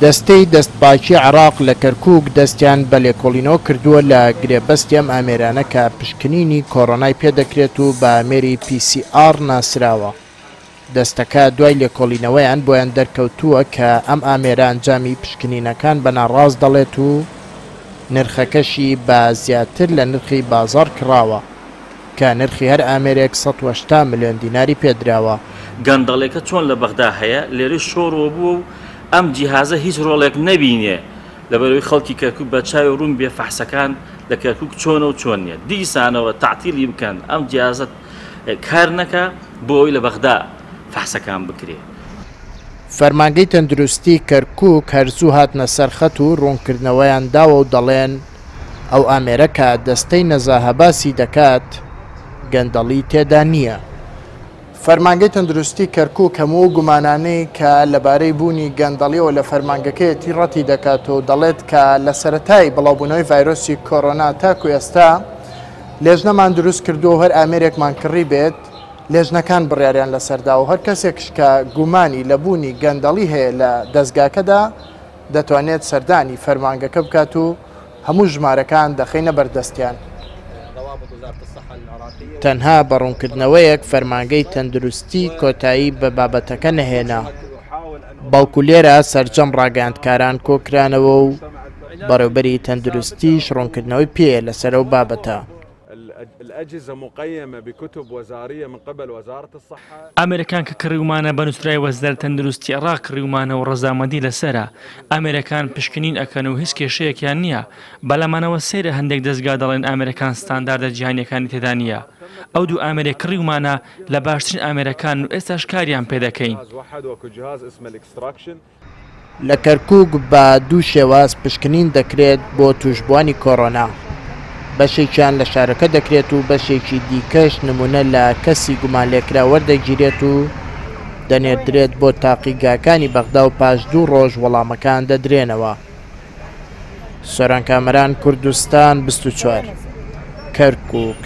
دەستەی دەستپاکی عێراق لە کەرکوک دەستیان بە لێکۆڵینەوە کردووە لە گرێبەستی ئەم ئامێرانە کە پشکنینی کۆرۆنای پێدەکرێت و بە ئامێری پی سی ئاڕ ناسراوە. دەستەکە دوای لێکۆڵینەوەیان بۆیان دەرکەوتووە کە ئەم ئامێرە ئەنجامی پشکنینەکان بە ناڕاست دەڵێت و نرخەکەشی بە زیاتر لە نرخی بازاڕ کڕاوە کە نرخی هەر ئامێرێک 180 ملیۆن دیناری پێدراوە. گەندەڵیەکە چۆن لە بەغدا هەیە لێرەش شۆڕوە بووە و ئەم جیهازە هیچ ڕۆڵێک نەبینێ لەبەرئەوەی خەڵکی کەرکوک بە چاوی ڕوون بێ فەحسەکان لە کەرکوک چۆنە و چۆن نیە دیسانەوە تەعتیلی بکەن ئەم جیهازە کار نەکا بۆ ئەوەی لە بەغدا فەحسەکان بکرێ. فەرمانگەی تەندروستی کەرکوک هەر زوو هاتنە سەر خەت و ڕوونکردنەوەیان داوە و دەڵێن، ئەو ئامێرە کە دەستەی نەزاهە باسی دەکات گەندەڵی تێدا نییە. فەرمانگەی تەندروستی کەرکوک هەموو ئەو گومانانەی کە لەبارەی بوونی گەندەڵیەوە لە فەرمانگەکەیەتی ڕەتی دەکاتەوە و دەڵێت کە لە سەرەتای بڵاوبوونەوەی ڤایرۆسی کۆرۆنا تاکو ئێستا لێژنەمان دروست کردووە و هەر ئامێرێکمان کڕی بێت لێژنەکان بڕیاریان لەسەردا و هەر کەسێکش کە گومانی لە بوونی گەندەڵی هەیە لە دەزگاکەدا دەتوانێت سەردانی فەرمانگەکە بکات و هەموو ژمارەکان دەخەینە بەردەستیان. تەنها بە ڕوونکردنەوەیەک فەرمانگەی تەندروستی کۆتایی بە بابەتەکە نەهێنا، بەڵکو لێرە سەرجەم ڕاگەیاندکاران کۆکرانەوە و بەڕێوبەری تەندروستیش ڕوونکردنەوەی پێیە لەسەر ئەو بابەتە. ئامێرەکان کە کڕیومانە بە نوسرای وەزارەت تەندروستی عێڕاق کڕیومانە و ڕەزامەندی لەسەرە، ئامێرەکان پشکنین ئەکەن و هیچ کێشەیەکیان نیە، بەلامانەوە سەیرە هەندێک دەزگا دەڵێن ئامێرەکان ستانداردە جیهانیەکانی تێدا نیە، ئەو دوو ئامێرەی کڕیومانە لە باشترین ئامێرەکانن و ئێستاش کاریان پێدەکەین. لە کەرکوک بە دوو شێواز پشکنین دەکرێت بۆ تووشبووانی کۆرۆنا، بەشێکیان لە شارەکە دەکرێت و بەشێکی دیکەش نمونە لە کەسی گومانلێکراو وەردەگیرێت و دەنێردرێت بۆ تاقیگاکانی بەغدا و پاش دوو ڕۆژ وەڵامەکان دەدرێنەوە. سۆران کامەران، کوردستان 24، کەرکوک.